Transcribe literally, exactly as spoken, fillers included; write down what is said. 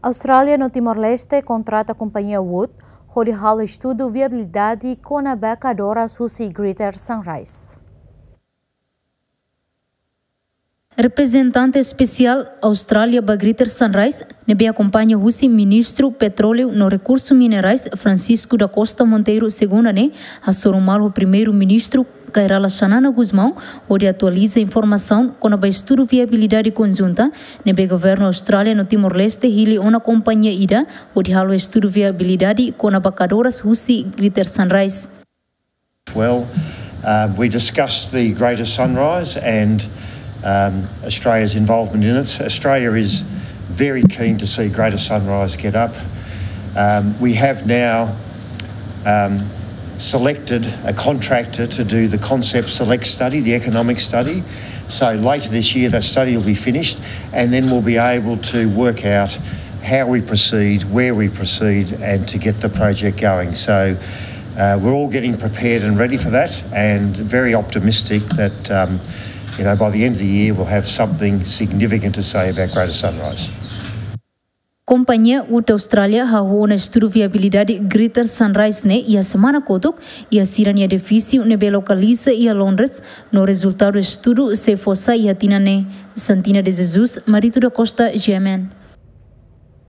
Austrália no Timor-Leste kontrata kompañia Wood hodi halo estudu viabilidade kona-ba kadoras husi Greater Sunrise. Reprezentante espesiál Austrália ba Greater Sunrise, ne'ebé akompaña husi Ministru Petróleu no Rekursu Minerais, Francisco da Costa Monteiro, segunda ne'e, hasoru malu ho Primeiru-Ministru Kay Rala Xanana Gusmão, hodi atualiza informasaun kona-ba estudu viabilidade konjunta ne'ebé Governu Austrália no Timor-Leste hili ona kompañia ida hodi halo estudu viabilidade kona-ba kadoras husi Greater Sunrise. Well, uh, we discussed the Greater Sunrise and um, Australia's involvement in it. Australia is very keen to see Greater Sunrise get up. Um, we have now um, selected a contractor to do the concept select study, the economic study. So later this year, that study will be finished, and then we'll be able to work out how we proceed, where we proceed, and to get the project going. So uh, we're all getting prepared and ready for that, and very optimistic that um, you know, by the end of the year we'll have something significant to say about Greater Sunrise. Kompañia Wood Austrália hahú ona estudu viabilidade Greater Sunrise ne'e iha semana kotuk iha sira-nia edifísiu ne'ebé lokaliza iha Londres, no rezultadu estudu sei fó sai iha tinan ne'e. Santina de Jesus, Marito da Costa, G M N.